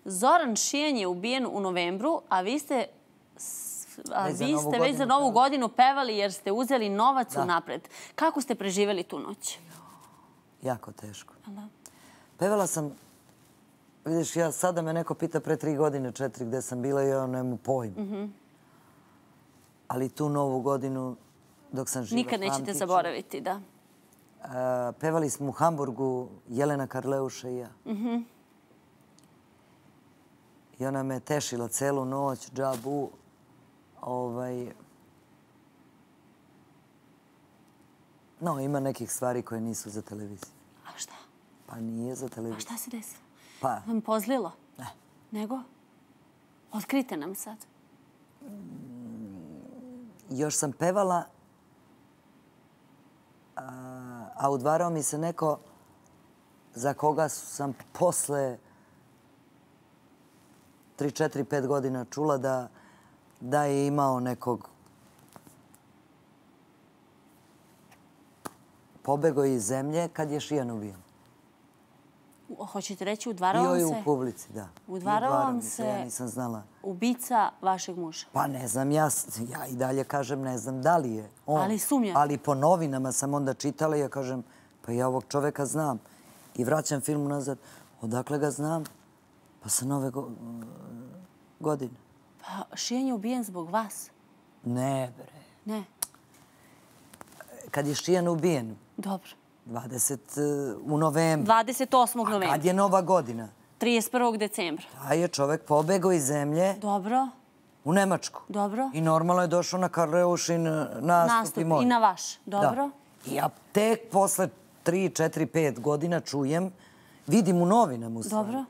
Zoran Šijan je ubijen u novembru, a vi ste već za Novu godinu pevali jer ste uzeli novac unapred. Kako ste preživjeli tu noć? Jako teško. Pevala sam, vidiš, sada me neko pita pre 3 godine, 4 gde sam bila i ja nemam pojma. Ali tu Novu godinu, dok sam živa, nikad nećete zaboraviti, da. Pevali smo u Hamburgu, Jelena Karleuša i ja. I ona me tešila celu noć, džabu. No, ima nekih stvari koje nisu za televiziju. A šta? Pa nije za televiziju. A šta se desilo? Pa... Vam pozlilo? Ne. Nego? Otkrite nam sad. Još sam pevala, a udvarao mi se neko za koga sam posle 3, 4, 5 godina čula da je imao nekog pobego iz zemlje kad je Šijan ubijen. Hoćete reći, udvarao vam se? Bio je u publici, da. Udvarao vam se ja nisam znala. Ubica vašeg muža? Pa ne znam, ja i dalje kažem ne znam da li je on. Ali sumnjate? Ali po novinama sam onda čitala i ja kažem, pa ja ovog čoveka znam. I vraćam film nazad, odakle ga znam? Pa sa Nove godine. Pa Šijan je ubijen zbog vas? Ne, bre. Ne? Kad je Šijan ubijen? Dobro. U novembru. 28. novembra. A kad je Nova godina? 31. decembra. Taj je čovek pobegao iz zemlje. Dobro. U Nemačku. Dobro. I normalno je došao na Karleušin nastup i moj. I na vaš. Dobro. I ja tek posle 3, 4, 5 godina čujem, vidim u novinama u stvari. Dobro.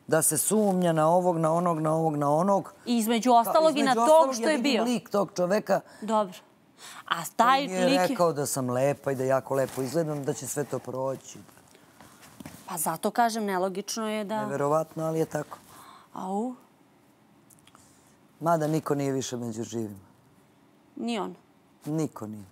Da se sumnja na ovog, na onog, na ovog, na onog. I između ostalog i na tog što je bio. Ja vidim lik tog čoveka. Dobro. A taj lik... On je rekao da sam lepa i da jako lepo izgledam, da će sve to proći. Pa zato kažem, nelogično je da... Neverovatno, ali je tako. Au? Mada niko nije više među živima. Ni on? Niko nije.